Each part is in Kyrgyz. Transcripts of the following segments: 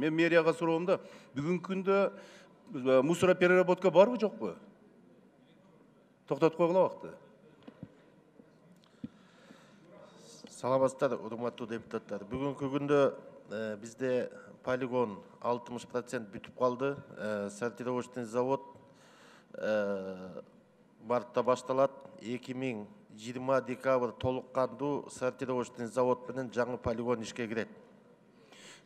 Мен мэрияга суроом да, бүгүнкү күндө мусоропереработка барбы, жокпу? Токтотуп койгула убакытты. Саламатсыздар, урматтуу депутаттар. Бүгүнкү күндө бизде полигон 60% бүтүп калды. Сортировочный завод мартта башталат. 2020 декабрь толук кандуу сортировочный завод менен жаңы полигон ишке кирет.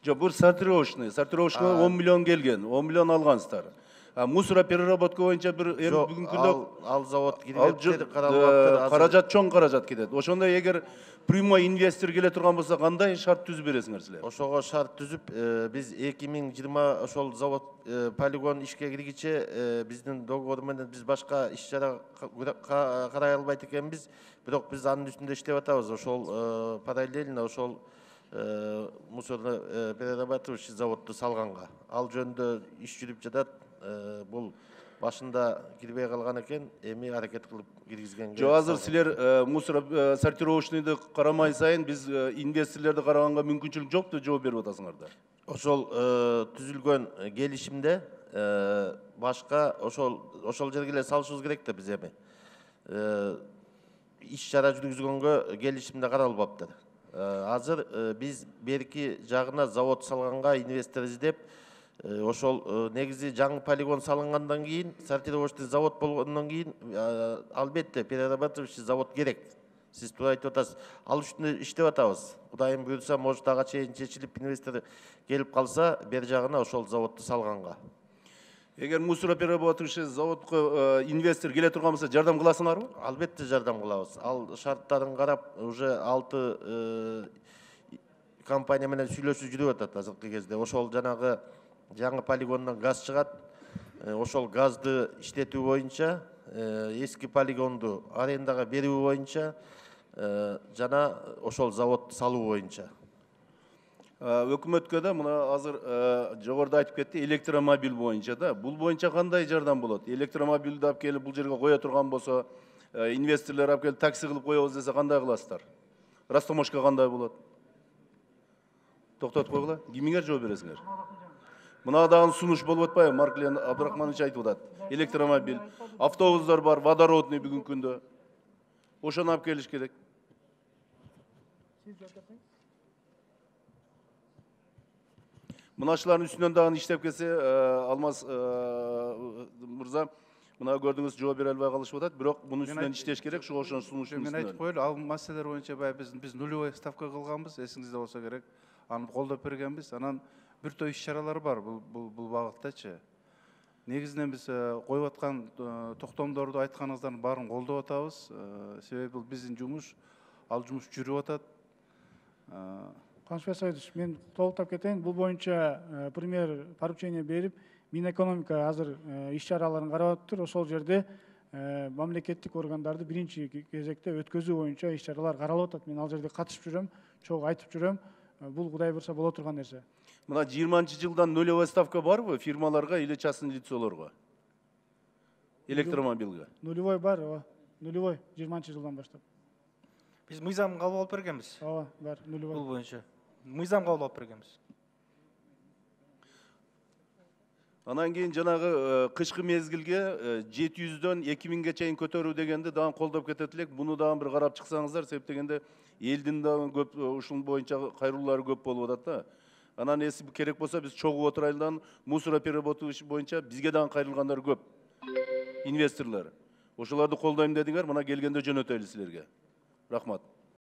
Жок, бул сортировочный 10 миллион келген, 10 миллион алгансыздар. Мусоропереработка боюнча бир бүгүнкү күндө ал завод кирбептер, каралбаптыр. Каражат, чоң каражат кетет. Ошондо эгер прямой инвестор келе турган болсо, кандай шарт түзүп бересиңер силер? Ошого шарт түзүп, биз 2020 ошол завод полигон ишке киргиче биздин договор менен биз башка иш-чара карай албайт экенбиз. Бирок биз анын үстүндө иштеп атабыз. Ошол параллельно ошол мусороперерабатывающий заводду салганга. Ал жөнүндө иш жүрүп жатат. Бул башында кирбей калган экен, эми аракет кылып киргизгенге. Жок, азыр силер сортировочныйды карамай сайын биз инвесторлорду караганга мүмкүнчүлүк жок деп жооп берип атасыңар да. Ошол түзүлгөн келишимде башка ошол жерге эле салышыбыз керек да биз эми. Иш-чара жүргүзгөнгө келишимде каралбаптыр. Азыр биз берки жагына завод салганга инвестор издеп, ошол негизи жаңы полигон салынгандан кийин, сортировочный завод болгондон кийин албетте перерабатывающий завод керек. Сиз туура айтып атасыз. Ал үстүндө иштеп атабыз. Кудайым буйрса, может ага чейин чечилип инвестор келип калса, бер жагына ошол заводду салганга. Эгер мусороперерабатывающий заводко инвестор келе турган болсо, жардам кыласыңарбы? Албетте жардам кылабыз. Ал шарттарын карап, уже 6 компания менен сүйлөшүү жүрүп атат азыркы кезде. Ошол жанагы жаңы полигондон газ чыгат. Ошол газды иштетүү боюнча, эски полигонду арендага берүү боюнча жана ошол завод салуу боюнча. Өкмөткө да мына азыр жогоруда айтып кетти, электромобиль боюнча да. Бул боюнча кандай жардам болот? Электромобилди алып келип бул жерге кое турган болсо, инвесторлор алып келип такси кылып коебуз десе, кандай кыласыздар? Растамошка кандай болот? Токтотуп койгула. Кимиңер жооп бересиңер? Мына дагы сунуш болуп атпайбы? Марклен Абдрахманович айтып атат. Электромобиль, автобустар бар, водородный бүгүнкү күндө. Ошону алып келиш керек. Мынашылардын үстүнөн дагы иштеп келсе, Алмаз мырза, мына көрдүңүз, жооп бере албай калышып атат, бирок мунун үстүнөн иштеш керек, ошонун сунуштун үстүнөн. Мен айтып коелу, ал маселелер боюнча биз нулевой ставка кылганбыз, эсиңизде болсо керек. Аны колдоп бергенбиз. Анан бир топ иш-чаралар бар бул багыттачы. Негизинен биз коюп аткан токтомдорду айтканыңыздардын баарын колдоп атабыз. Себеби бул биздин жумуш, ал жумуш жүрүп атат. Канышбек Саидович, мен толуктап кетейин. Бул боюнча премьер поручение берип, Минэкономика азыр иш-чараларын карап атыптыр. Ошол жерде мамлекеттик органдарды биринчи кезекте өткөзүү боюнча иш-чаралар каралып атат. Мен ал жерде катышып жүрөм, чогуу айтып жүрөм. Бул кудай буйрса боло турган нерсе. Мына 20-жылдан нулевой ставка барбы фирмаларга или частный лицолорго? Электромобилге. Нулевой бар, ооба. Нулевой 20-жылдан баштап. Биз мыйзам кабыл алып бергенбиз. Ооба, бар, нулевой. Бул боюнча. Мыйзам кабыл алып бергенбиз. Анан кийин жанагы кышкы мезгилге 700дөн 2000ге чейин көтөрүү дегенди дагы колдоп кетет элек. Буну дагы бир карап чыксаңыздар, себеп дегенде элдин дагы көп ушул боюнча кайрылуулары көп болуп атат да. Анан эси керек болсо биз чогуу отурайлардан мусороперерабатывающий боюнча бизге дагы кайрылгандар көп. Инвесторлор. Ошолорду колдойм дедиңер, мына келгенде жөнөтөлү силерге. Рахмат.